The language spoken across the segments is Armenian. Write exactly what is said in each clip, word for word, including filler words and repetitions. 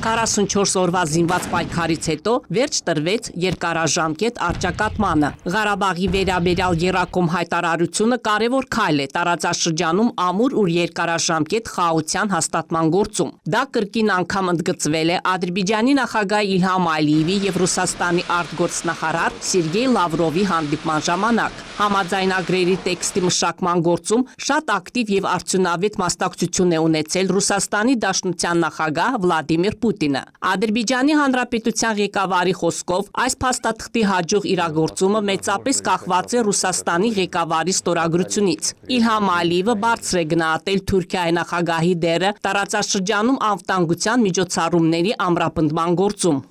քառասունչորս օրվա զինված պայքարից հետո վերջ տրվեց երկարաժամկետ առճակատմանը։ Ղարաբաղի վերաբերյալ եռակողմ հայտարարությունը կարևոր քայլ է տարածաշրջանում ամուր ու երկարաժամկետ խաղաղության հաստատման գործում։ Դա կրկին անգամ ընդգծվել է Ադրբեջանի նախագահ Իլհամ Ալիևի եւ Ռուսաստանի արտգործնախարար Սերգեյ Լավրովի հանդիպման ժամանակ։ Համաձայնագրերի տեքստի մշակման գործում շատ ակտիվ եւ արդյունավետ մասնակցություն է ունեցել Ռուսաստանի Դաշնության նախագահ Վլադիմիր Պուտինը։ Ադրբեջանի Հանրապետության ղեկավարի խոսքով այս փաստաթղթի հաջող իրագործումը մեծապես կախված է Ռուսաստանի ղեկավարի ստորագրությունից։ Իլհամ Ալիևը բարձր է գնահատել Թուրքիայի նախագահի դերը տարածաշրջանում անվտանգության միջոցառումների ամրապնդման գործում։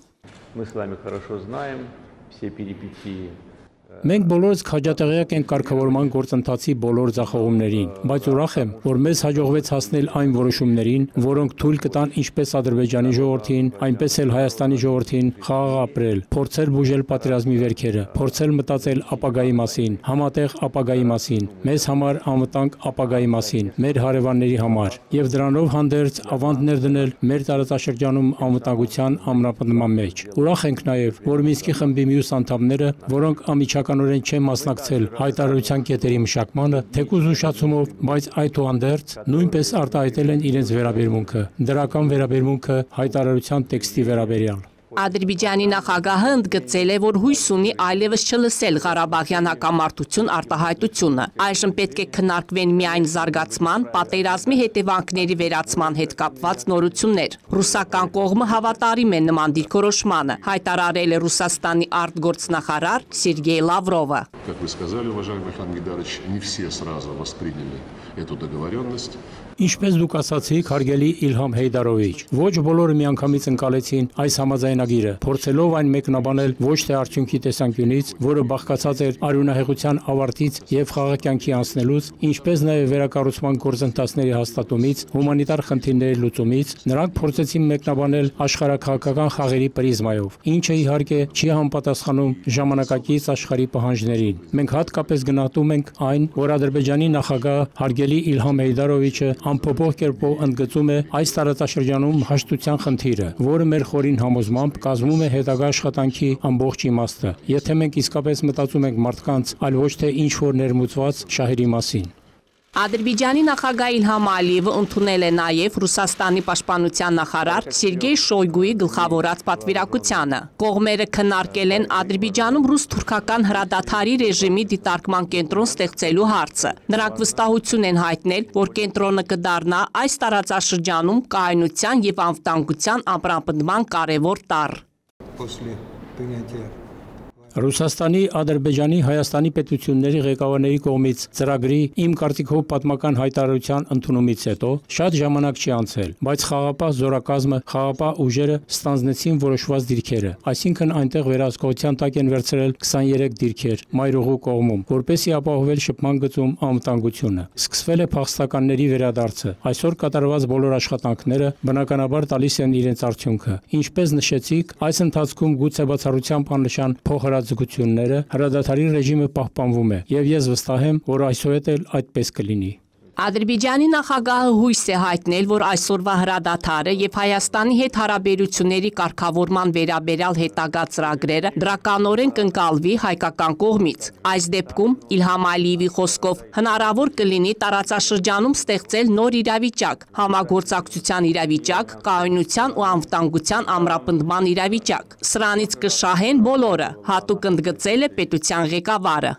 Մենք բոլորս քաջատեղյակ ենք կարգավորման գործընթացի բոլոր ձախողումներին, բայց ուրախ եմ, որ մեզ հաջողվեց հասնել այն որոշումներին, որոնք թույլ կտան ինչպես Ադրբեջանի ժողովրդին, այնպես էլ Հայաստանի ժողովրդին խաղաղ ապրել, փորձել բուժել պատերազմի վերքերը, փորձել մտածել ապագայի մասին, համատեղ ապագայի մասին, մեզ համար անվտանգ ապագայի մասին, մեր հարևանների համար, եւ դրանով հանդերձ ավանդ ներդնել մեր տարածաշրջանում անվտանգության ամրապնդման մեջ։ Ուրախ ենք նաեւ, որ Մինսկի խմբի մյուս անդամները, որոնք ամիջական կանորեն չեն մասնակցել հայտարարության կետերի մշակմանը, թեկուզ ուշացումով, բայց այդուհանդերձ նույնպես արտահայտել են իրենց վերաբերմունքը, դրական վերաբերմունքը հայտարարության տեքստի վերաբերյալ։ Ադրբեջանի նախագահը ընդգծել է, որ հույս ունի այլևս չլսել Ղարաբաղյան հակամարտություն արտահայտությունը։ Այժմ պետք է քննարկվեն միայն զարգացման, պատերազմի հետևանքների վերացման հետ կապված նորություններ։ Ռուսական կողմը հավատարիմ է նման դիրքորոշմանը, հայտարարել է Ռուսաստանի արտգործնախարար Սերգեյ Լավրովը։ Ինչպես դուք ասացիք, հարգելի Իլհամ Հեյդարովիչ, ոչ բոլորը միանգամից ընկալեցին այս համաձայնագիրը, փորձելով այն մեկնաբանել ոչ թե արդյունքի տեսանկյունից, որը բաղկացած էր արյունահեղության ավարտից եւ խաղաղ կյանքի անցնելուց, ինչպես նաեւ վերակառուցման գործընթացների հաստատումից, հումանիտար խնդիրների լուծումից, նրանք փորձեցին մեկնաբանել աշխարհաքաղաքական խաղերի պրիզմայով, ինչը իհարկե չի համապատասխանում ժամանակակից աշխարհի պահանջներին։ Մենք հատկապես գնահատում ենք այն, որ Ադրբեջանի նախագահ հարգելի Իլհամ Հեյդարովիչը ամփոփող կերպով ընդգծում է այս տարածաշրջանում հաշտության խնդիրը, որը մեր խորին համոզմամբ կազմում է հետագա աշխատանքի ամբողջ իմաստը, եթե մենք իսկապես մտածում ենք մարդկանց, այլ ոչ թե ինչ-որ ներմուծված շահերի մասին։ Ադրբեջանի նախագահ Իլհամ Ալիևը ընդունել է նաև Ռուսաստանի պաշտպանության նախարար Սերգեյ Շոյգուի գլխավորած պատվիրակությանը։ Կողմերը քննարկել են Ադրբեջանում ռուս-թուրքական հրադադարի ռեժիմի դիտարկման կենտրոն ստեղծելու հարցը։ Նրանք վստահություն են հայտնել, որ կենտրոնը կդառնա այս տարածաշրջանում կայունության եւ անվտանգության ամրապնդման կարևոր տառ։ Ռուսաստանի, Ադրբեջանի, Հայաստանի պետությունների ղեկավարների կողմից ծրագրի իմ կարծիքով պատմական հայտարարության ընդունումից հետո շատ ժամանակ չի անցել, բայց խաղաղապահ զորակազմը, խաղաղապահ ուժերը ստանձնեցին որոշված դիրքերը, այսինքն այնտեղ վերահսկողության տակ են վերցրել քսաներեք դիրքեր մայրուղու կողմում, որպեսզի ապահովել շփման գծում անվտանգությունը։ Սկսվել է փախստականների վերադարձը։ Այսօր կատարված բոլոր աշխատանքները բնականաբար տալիս են իրենց արդյունքը։ Ինչպես նշեցիք, այս ընթացքում գուցե բացառությամբ աննշան փոխհրաձգությունները, հրադադարի ռեժիմը պահպանվում է, եւ ես վստահ եմ, որ այսուհետ էլ այդպես կլինի։ Ադրբեջանի նախագահը հույս է հայտնել, որ այսօրվա հրադադարը եւ Հայաստանի հետ հարաբերությունների կարգավորման վերաբերյալ հետագա ծրագրերը դրականորեն կընկալվի հայկական կողմից։ Այս դեպքում Իլհամ Ալիևի խոսքով հնարավոր կլինի տարածաշրջանում ստեղծել նոր իրավիճակ, համագործակցության իրավիճակ, կայունության ու անվտանգության ամրապնդման իրավիճակ։ Սրանից կշահեն բոլորը, հատուկ ընդգծել է պետության ղեկավարը։